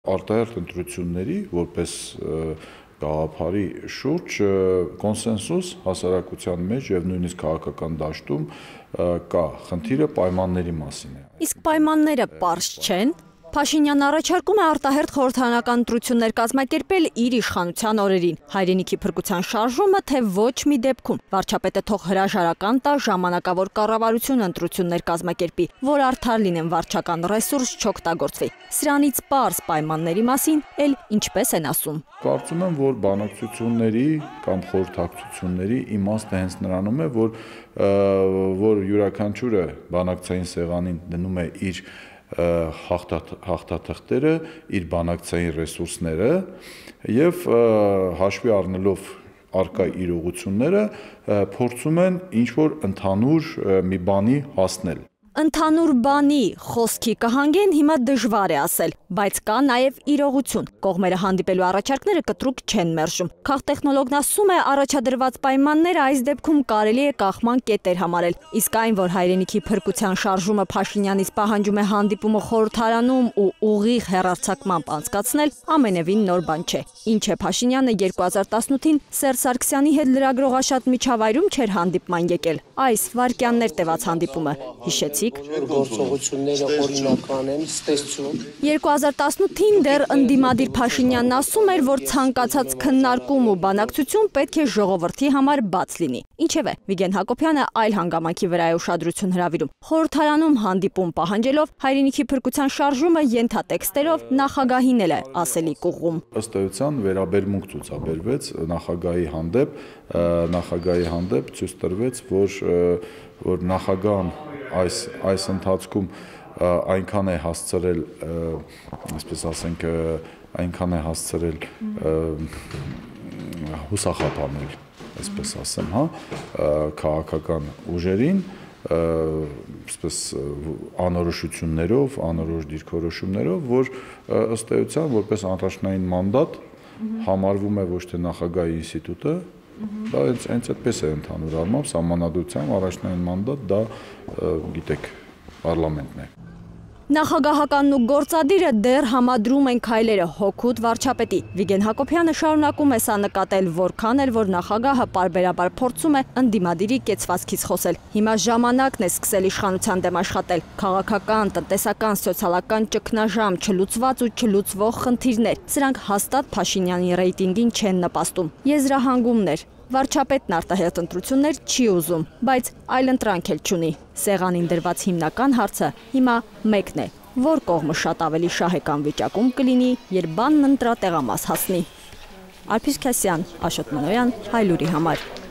Արտահերթ ընտրությունների որպես գաղափարի շուրջ կոնսենսուս հասարակության մեջ եւ նույնիսկ քաղաքական դաշտում կա, խնդիրը պայմանների մասին է։ Իսկ պայմանները պարզ չեն։ Փաշինյանն առաջարկում է արտահերթ խորհրդարանական ընտրություններ կազմակերպել իր իշխանության օրերին։ Հայրենիքի փրկության շարժումը, թե ոչ մի դեպքում վարչապետը թող հրաժարական տա ժամանակավոր կառավարություն ընտրություններ կազմակերպի, որ արդար լինեն վարչական ռեսուրս չօգտագործվի։ Սրանից պարզ պայմանների մասին էլ ինչպես են ասում։ Կարծում եմ, որ բանակցությունների կամ խորհրդակցությունների իմաստը հենց նրանում է, որ յուրաքանչյուրը բանակցային սեղանին դնում է իր հաղթաթղթերը, իր բանակցային ռեսուրսները եւ հաշվի առնելով առկա իրողությունները փորձում են ինչ-որ ընդհանուր մի բանի հասնել։ Ընդհանուր բանի խոսքի կհանգեն հիմա դժվար է ասել, բայց կա նաև իրողություն։ Կողմերը հանդիպելու առաջարկները կտրուկ չեն մերժում։ Քաղտեխնոլոգն ասում է, առաջադրված պայմանները այս դեպքում կարելի է կախման կետեր համարել։ Իսկ այն, որ հայրենիքի փրկության շարժումը Փաշինյանից պահանջում է հանդիպումը խորհրդարանում ու ուղիղ հեռարձակմամբ անցկացնել, ամենևին նոր բան չէ։ Ինչ է Փաշինյանը 2018-ին Սերժ Սարգսյանի հետ լրագրողաշատ միջավայրում չէր հանդիպման եկել։ Այս վայրկյաններ տևած հանդիպումը հիշեցիք։ Գործողությունները օրինական են, ստեսություն։ 2018-ին դեռ ընդդիմադիր Փաշինյանն ասում էր, որ ցանկացած քննարկում ու բանակցություն պետք է ժողովրդի համար բաց լինի։ Ինչևէ, Վիգեն Հակոբյանը այլ հանգամանքի վրա է ուշադրություն հրավիրում։ Խորհրդարանում հանդիպում պահանջելով հայրենիքի փրկության շարժումը ենթատեքստերով նախագահին էլ է ասելիք ուղղում։ Ըստ էության վերաբերմունք ցուցաբերվեց նախագահի հանդեպ ցույց տրվեց, որ նախագահն այս ընթացքում այնքան է հասցրել, այսպես ասենք, այնքան է հասցրել հուսախաբանել, այսպես ասեմ, հա, քաղաքական ուժերին, այսպես անորոշություններով, անորոշ դիրքորոշումներով, որ ըստ էության որպես առաջնային մանդատ համարվում է ոչ թե նախագահի ինստիտուտը, դա հենց այդպես է ընդհանուր առմամբ սահմանադրությամբ առաջնային մանդատ դա գիտեք պարլամենտն է։ Նախագահականն ու գործադիրը դեռ համադրում են քայլերը հօգուտ վարչապետի։ Վիգեն Հակոբյանը շարունակում է սա նկատել, որքան էլ որ նախագահը պարբերաբար փորձում է ընդդիմադիրի կեցվածքից խոսել։ Հիմա ժամանակն է սկսել իշխանության դեմ աշխատել։ Քաղաքական, տնտեսական, սոցիալական ճգնաժամ, չլուծված ու չլուծվող խնդիրներ։ Սրանք հաստատ Փաշինյանի ռեյտինգին չեն նպաստում։ Եզրահանգումներ։ Վարչապետն արտահերթ ընտրություններ չի ուզում, բայց այլընտրանք էլ չունի։ Սեղանին դրված հիմնական հարցը հիմա մեկն է. որ կողմը շատ ավելի շահեկան վիճակում կլինի, երբ բանն ընտրատեղամաս հասնի։ Ալփիս Քասյան, Աշոտ Մանոյան, Հայլուրի համար։